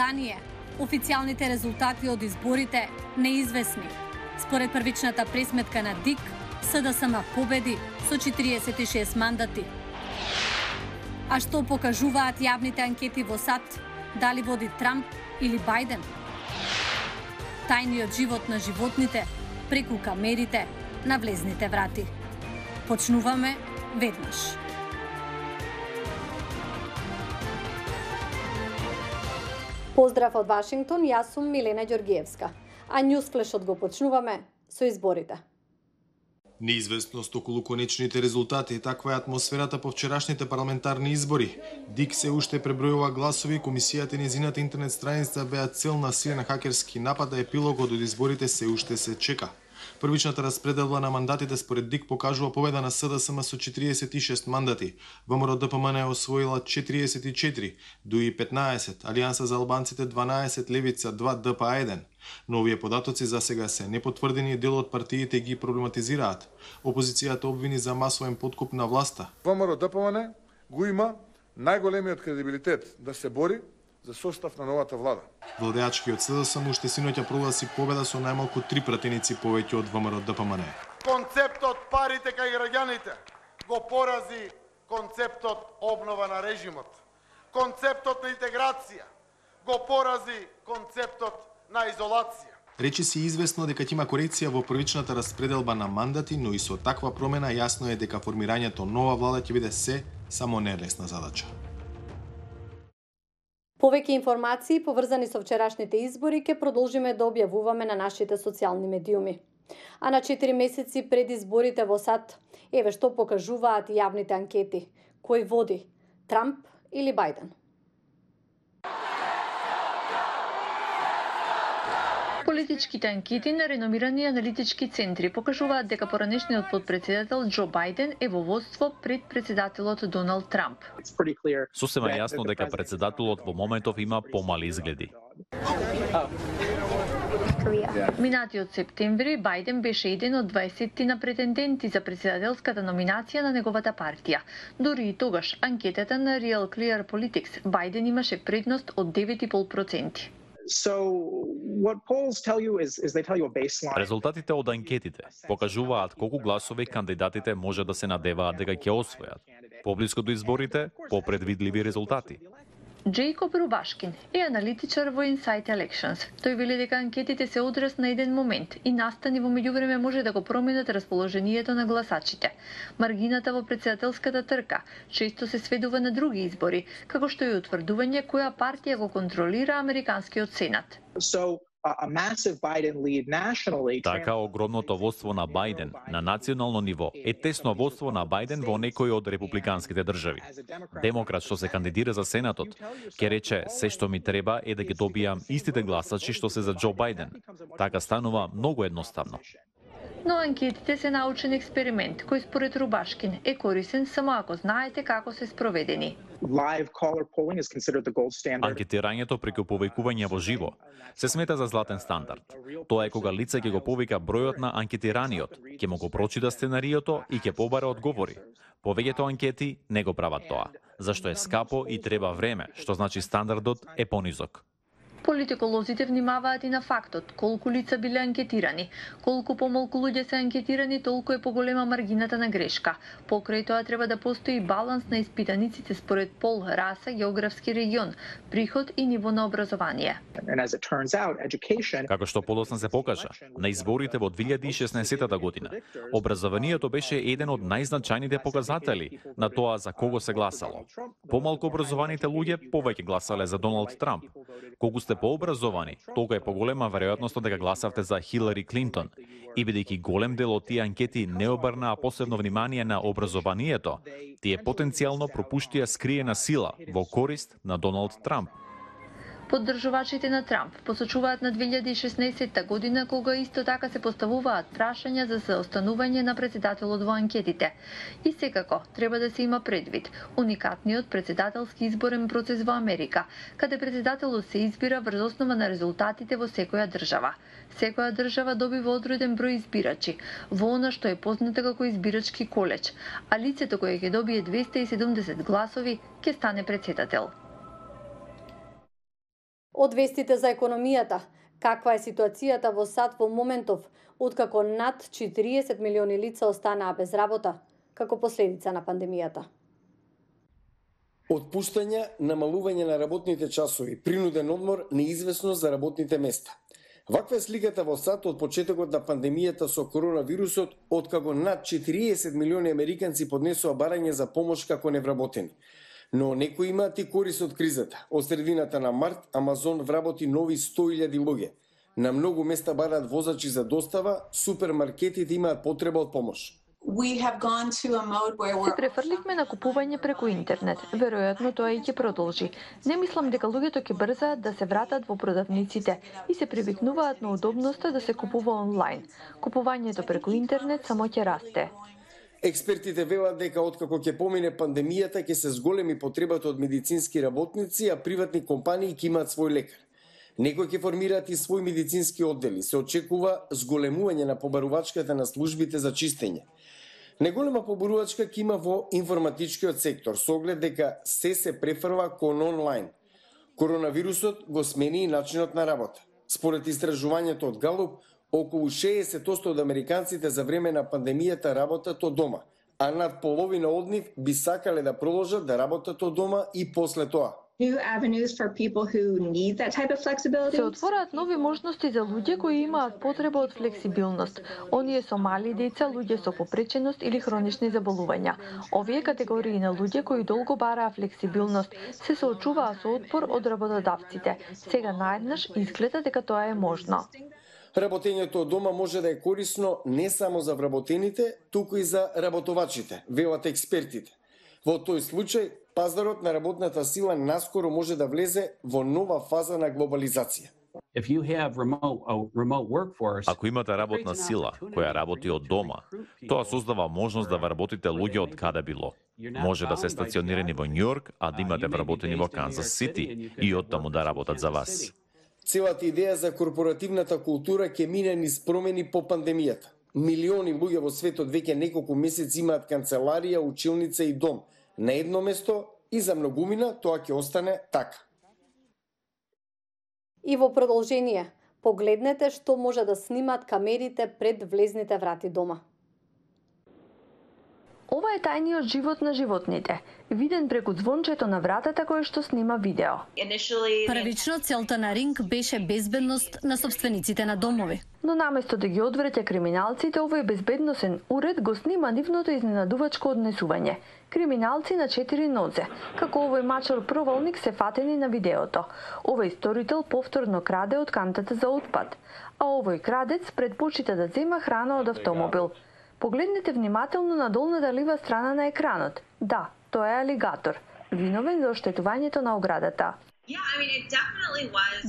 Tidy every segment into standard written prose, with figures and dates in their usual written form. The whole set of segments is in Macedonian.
ранее, официјалните резултати од изборите неизвестни. Според првичната пресметка на ДИК, СДСМ победи со 46 мандати. А што покажуваат јавните анкети во САД? Дали води Трамп или Бајден? Тајниот живот на животните преку камерите на влезните врати. Почнуваме веднаш. Поздрав од Вашингтон, јас сум Милена Ѓоргиевска. А Ньюсфлешот го почнуваме со изборите. Неизвестност околу конечните резултати, таква е атмосферата по вчерашните парламентарни избори. ДИК се уште пребројува гласови, комисијата и нејзината интернет страница беа цел на силен хакерски напад, а епилогот од изборите се уште се чека. Првичната распределба на мандатите според ДИК покажува победа на СДСМ со 46 мандати. ВМРО ДПМН е освоила 44, ДУИ 15, Алијанса за албанците 12, Левица 2, ДПА 1. Но овие податоци за сега се непотврдени и дел од партиите ги проблематизираат. Опозицијата обвини за масовен подкуп на власта. ВМРО ДПМН го има најголемиот кредибилитет да се бори за состав на новата влада. Владеачкиот СДСМ уште синоќа прогласи победа со најмалку 3 пратеници повеќе од ВМРО ДПМН. Концептот парите кај граѓаните го порази концептот обнова на режимот. Концептот на интеграција го порази концептот на изолација. Речи се известно дека ќе има корекција во првичната распределба на мандати, но и со таква промена јасно е дека формирањето нова влада ќе биде само не лесна задача. Повеќе информации поврзани со вчерашните избори ќе продолжиме да објавуваме на нашите социјални медиуми. А на 4 месеци пред изборите во САД, еве што покажуваат јавните анкети. Кој води? Трамп или Бајден? Политичките анкети на реномирани аналитички центри покажуваат дека поранешниот потпредседател Џо Бајден е во водство пред председателот Доналд Трамп. Сосема јасно дека председателот во моментов има помали изгледи. Минатиот септември Бајден беше еден од 20 претенденти за председателската номинација на неговата партија. Дури и тогаш анкетата на Real Clear Politics Бајден имаше предност од 9,5%. Резултатите од анкетите покажуваат колку гласови кандидатите може да се надеваат дека ќе освојат. Поблиску до изборите, попредвидливи резултати. Джейкоб Рубашкин е аналитичар во Insight Elections. Тој вели дека анкетите се одраз на еден момент и настани во меѓувреме може да го променат расположението на гласачите. Маргината во председателската трка често се сведува на други избори, како што е утврдување која партија го контролира американскиот сенат. Така огромното водство на Бајден на национално ниво е тесно водство на Бајден во некои од републиканските држави. Демократ што се кандидира за Сенатот ќе рече се што ми треба е да ги добијам истите гласачи што се за Џо Бајден. Така станува многу едноставно. Но анкетите се научен експеримент кој според Рубашкин е корисен само ако знаете како се спроведени. Анкетирањето преку повикување во живо се смета за златен стандард. Тоа е кога лице ќе го повика бројот на анкетираниот, ќе му го прочита сценариото и ќе побара одговори. Повеќето анкети не го прават тоа, зашто е скапо и треба време, што значи стандардот е понизок. Политиколозите внимаваат и на фактот колку лица биле анкетирани. Колку помалку луѓе се анкетирани, толку е поголема маргината на грешка. Покрај тоа треба да постои баланс на испитаниците според пол, раса, географски регион, приход и ниво на образование. Како што подоцна се покажа, на изборите во 2016 година, образованието беше еден од најзначајните показатели на тоа за кого се гласало. Помалку образованите луѓе повеќе гласале за Доналд Трамп. Колку сте пообразовани, толку е поголема веројатноста дека гласавте за Хилари Клинтон. И бидејќи голем дел од тие анкети не обрнаа посебно внимание на образованието, тие потенцијално пропуштија скриена сила во корист на Доналд Трамп. Поддржувачите на Трамп посочуваат на 2016 година кога исто така се поставуваат прашања за заостанување на председателот во анкетите. И секако треба да се има предвид уникатниот председателски изборен процес во Америка, каде председателот се избира врз основа на резултатите во секоја држава. Секоја држава добива одреден број избирачи, во она што е познато како избирачки колеж, а лицето кое ќе добие 270 гласови ќе стане председател. Од вестите за економијата, каква е ситуацијата во САД во моментов, откако над 40 милиони лица останаа без работа, како последица на пандемијата. Отпуштање, намалување на работните часови, принуден одмор, неизвестност за работните места. Ваква е сликата во САД од почетокот на пандемијата со коронавирусот, откако над 40 милиони американци поднесоа барање за помош како невработени. Но некои имаат и корист од кризата. Од средината на март, Амазон вработи нови 100.000 луѓе. На многу места бараат возачи за достава, супермаркетите имаат потреба од помош. Се префрлихме на купување преку интернет. Веројатно тоа и ќе продолжи. Не мислам дека луѓето ќе брзаат да се вратат во продавниците и се привикнуваат на удобноста да се купува онлайн. Купувањето преку интернет само ќе расте. Експертите велат дека откако ќе помине пандемијата ќе се зголеми потребата од медицински работници, а приватни компании ќе имаат свој лекар. Некои ќе формираат и своји медицински оддели. Се очекува зголемување на побарувачката на службите за чистење. Неголема побарувачка ќе има во информатичкиот сектор, со оглед дека се префрва кон онлайн. Коронавирусот го смени и начинот на работа. Според истражувањето од Галуп, околу 60% од американците за време на пандемијата работат од дома, а над половина од нив би сакале да продолжат да работат од дома и после тоа. Се отвораат нови можности за луѓе кои имаат потреба од флексибилност. Оние со мали деца, луѓе со попреченост или хронични заболувања. Овие категории на луѓе кои долго бараа флексибилност се соочуваа со отпор од работодавците. Сега наеднаш изгледа дека тоа е можно. Работењето од дома може да е корисно не само за вработените, туку и за работувачите, велат експертите. Во тој случај, пазарот на работната сила наскоро може да влезе во нова фаза на глобализација. Ако имате работна сила која работи од дома, тоа создава можност да вработите луѓе од каде било. Може да се стационирани во Њујорк, а да имате вработени во Канзас Сити и оттаму да работат за вас. Целата идеја за корпоративната култура ќе мине низ промени по пандемијата. Милиони луѓе во светот веќе неколку месеци имаат канцеларија, училница и дом на едно место и за многумина тоа ќе остане така. И во продолжение, погледнете што може да снимат камерите пред влезните врати дома. Ова е тајниот живот на животните, виден преку звончето на вратата кое што снима видео. Првично целта на Ринг беше безбедност на собствениците на домови. Но наместо да ги одвреќа криминалците, овој безбедносен уред го снима нивното изненадувачко однесување. Криминалци на 4 нозе, како овој мачор провалник се фатени на видеото. Овој сторител повторно краде од кантата за отпад, а овој крадец предпочита да зема храна од автомобил. Погледнете внимателно на долната лева страна на екранот. Да, тоа е алигатор, виновен за оштетувањето на оградата.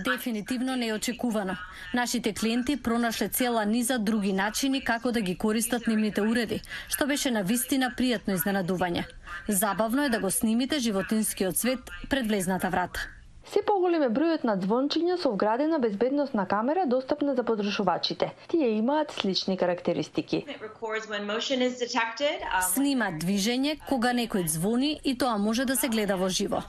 Дефинитивно неочекувано. Нашите клиенти пронашле цела низа други начини како да ги користат нивните уреди, што беше навистина пријатно изненадување. Забавно е да го снимите животинскиот свет пред влезната врата. Се поголем е бројот на звончиња со вградена безбедносна камера достапна за потребувачите. Тие имаат слични карактеристики. Снима движење кога некој звони и тоа може да се гледа во живо.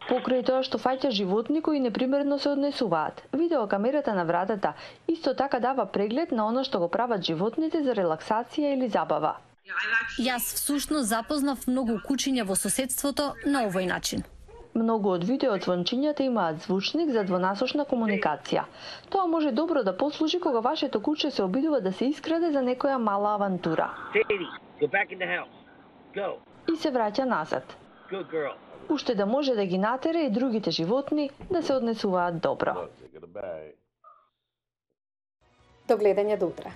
Покрај тоа што фаќа животни кои непримерно се однесуваат, видеокамерата на вратата исто така дава преглед на она што го прават животните за релаксација или забава. Јас всушност запознав многу кучиња во соседството на овој начин. Многу од видеозвончињата имаат звучник за двонасочна комуникација. Тоа може добро да послужи кога вашето куче се обидува да се искраде за некоја мала авантура. И се враќа назад. Уште да може да ги натера и другите животни да се однесуваат добро. До гледање до утре.